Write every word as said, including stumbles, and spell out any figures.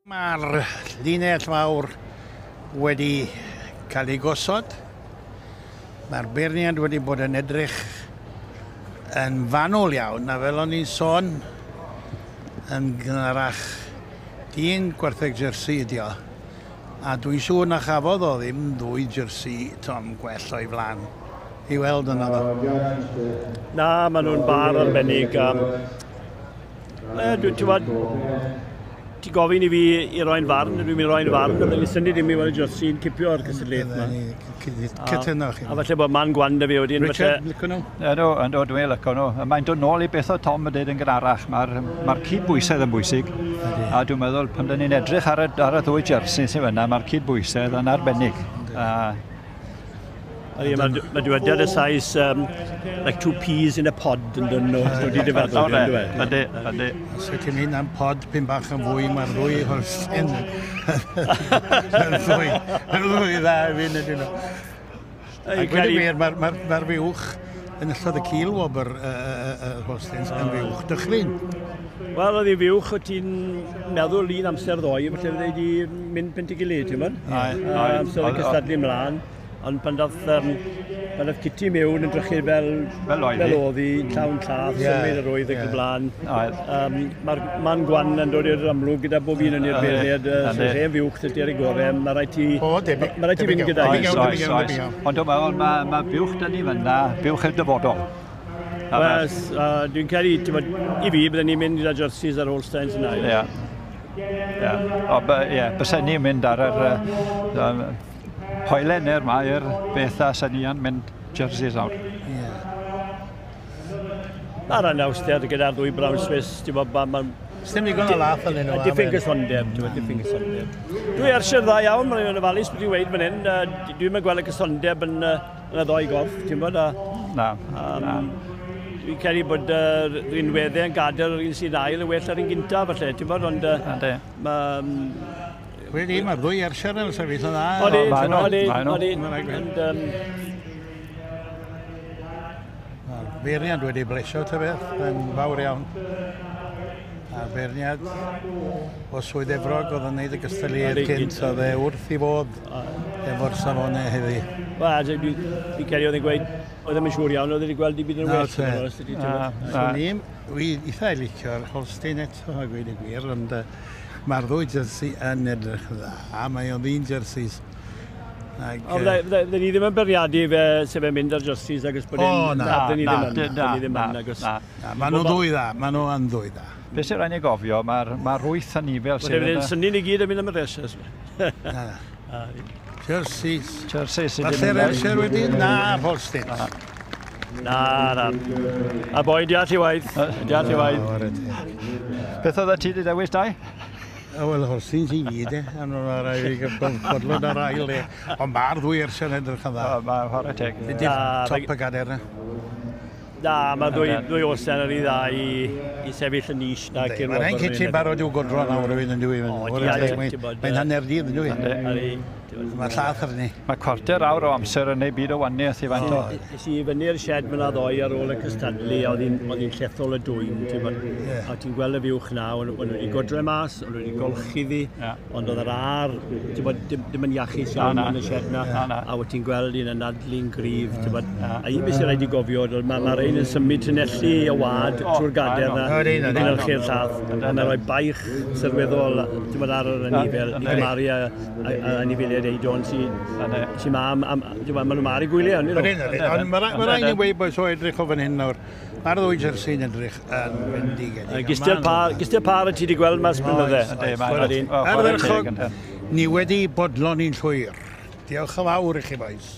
Mae'r linell fawr wedi cael ei gosod. Mae'r beirniad wedi bod yn edrych yn fanwl iawn, a fel o'n i'n sôn yn gynharach, dyn gwartheg jersey ydi o. A dwi'n siŵr na chafodd o ddim ddwy jersey Tom gwell o'i flaen i weld yna ddo. Na, maen nhw'n bar arbennig. Um, e, dwi, ti'n gwbod, ti gofyn i fi i roi'n farn, dwi'n mynd i roi'n farn, byddwn i'n synnu ddim i weld y jersey'n cipio'r cystadleuaeth yma. Cytuno chi. A falle bod man gwan da fi wedyn. Richard, falle licio nhw? Ydw, yndw, dwi'n licio nhw. Mae'n dod nôl i beth o Tom yn dweud yn gynharach. Mae'r ma cydbwysedd yn bwysig. A dwi'n meddwl, pan dyn ni'n edrych ar y, ar y ddwy jersey sydd fyna, mae'r cydbwysedd yn arbennig. A Ydy, Mae ma dywediad y Sais, um, like two peas in a pod yn dyn nhw, dod i dy feddwl, O, yn dweud. Ydy, ydy. Os wyt ti'n mynd am pod pyn bach yn fwy, mae'r ddwy Holstein yn ddwy, yn ddwy dda i fi, ydyn nhw. A gweud y gwir, mae'r ma, ma fuwch yn ystod y cil wobr y uh, Holsteins yn fuwch dychryn. Wel, oedd hi fuwch, o ti'n meddwl un amser ddoe, falle fydde di mynd pent i gilydd, ti'n mynd? Aye, aye. Um, so oedd yn cystadlu ymlaen. Ond pan dath, um, pan dath Kitty mewn yn drychu fel, Fel oedd hi. fel oedd hi, llawn llath, Ie, symud yr oedd ac ie. y blaen. Oedd. Um, Mae'r man gwan yn dod i'r amlwg gyda bob un yn i'r Yndi, beirniad. Uh, yndi. so hen fuwch dydy ar ei gorau, mae rhaid ti... O, debyg. Mae rhaid ti debyg fynd iawn, gyda debyg hi. iawn, Oes, debyg iawn, oes, debyg iawn. Ond dwi'n meddwl, mae ma buwch dyn ni fyna, buwch i'r dyfodol. A Wel, uh, dwi'n credu, ti'n bod, i fi, bydden ni'n mynd gyda jerseys ar Holsteins yna. Ie. Ie. O, by- ie, bysen ni'n mynd ar yr uh, hoelen neu'r mair beth a sen ni yn mynd jerseys nawr. Ie. Mae'r anawster gyda'r ddwy Brown Swiss, ti'n bod, ma, ma, Sdim digon o lath yn nhw. Diffyg gysondeb, ti'n bod, diffyg gysondeb. Dwi Ayrshire dda iawn, mae'n ofalus beth i'n weud fan hyn. Uh, Dwi'n mynd gweld y cysondeb yn, uh, yn y ddoi gorff, ti'n bod, a Na, um, na. Dwi'n credu bod uh, rinweddau yn gadael yr un sy'n ail yn well ar un gyntaf, falle, ti'n bod, ond uh, Yndi. mae... Um, Wedi, mae'r ddwy Ayrshire yn sefyll yn dda. Odi, maen nhw, odi, maen nhw. odi. Mae'n rhaid gweud. Ond, um, Mae'r beirniad wedi blesio ta beth, yn fawr iawn. A'r beirniad o Swydd Efrog oedd yn neud y gystadleuaeth Odi, cynt, oedd e wrth i fod efo'r safonau heddi. Wel, dwi, dwi'n credu oedd e'n gweud, oedd e'n siŵr iawn, oedd wedi gweld i byd yn Na, well. te. yn onest, ydi, ti'n Na, gwbod. na. Swn i'n, wi eitha licio'r Holstein eto, a gweud y gwir, ond uh, mae'r ddwy jersey yn edrych yn dda, a mae o'n ddyn jerseys. Ag, Ond fydde- fydde fydde ni ddim yn bwriadu fe sef e'n mynd ar jerseys agos bod O, e'n... na. Fydde ni Na, ddim yn. na, Fydde ni ddim na, yn, agos. na. Na, maen nhw'n ddwy dda, maen nhw yn ddwy dda. Be sy'n rhaid ni gofio, mae'r ma wyth anifel Fydde sydd fe'n yn y synnu ni gyd yn mynd am y rhes. Na, na. Jerseys. jersey sydd wedi Falle'r mynd. Ayrshire wedi? Na, Holstein. Na, na. A boi, diolch i waith. Diolch i waith. O, whare teg. Beth oedd ti wedi dewis, Dai? O, wel, Holsteins i gyd, e. A nhw'n rhaid i fi bodlon ar ail, e. Ond mae'r ddwy Ayrshire yn edrych yn dda. O, Mae whare teg. Ydy'r Na, top y gader na. Na, mae ddwy, ddwy Holstein ar ei dda i, i sefyll y niche na. Yndi, Mae'r ein kitchen barod i'w godro nawr hefyd yn dwi. O, Whare ie, teg, ti'n Mae'n bod, mae'n yy, hanner dydd yn dwi. Ar ei... ti'n bod. Mae llath arni. Mae cwarter awr o amser yn ei byd o waniaeth i faint o. Es i fyny'r shed fyna ddoe ar ôl y cystadlu, a oedd hi'n oedd hi'n llethol y dwyn, ti'n bod. Ie. A ti'n gweld y fuwch na, o'n o'n nhw wedi godre mas, o'n nhw wedi golchi ddi, Ie. ond oedd yr ar, ti'n bod, dim, dim yn iachus iawn Na, na. yn y shed na, Na, na. a wyt ti'n gweld un anadlu'n gryf, ti'n bod. A un beth sy'n rhaid i gofio, oedd mae ma rhain yn symud tunelli y wad O, trwy'r gader na, Ydy, i ydy. gynhyrchu'r llath, a mae'n rhoi baich sylweddol, ti'n bod, ar yr anifel, i Yndi. gymharu â, â, â anifeiliaid eidon sy'n Yndi. sy ma am, am, ti'n bod, maen nhw ma ar eu gwyliau, on'd Ydyn, nhw? ydyn. Ond mae ra- ma' raid ni weud boes o edrych o fan hyn nawr. Mae'r ddwy jersey'n edrych yn fendigedig. Gistel par, gistel par y ti wedi gweld mas blynydde. Yndi, mae'n- Ydyn. O, chwarae teg, Ardderchog, ynde. ni wedi bodloni'n llwyr. Diolch yn fawr i chi boys.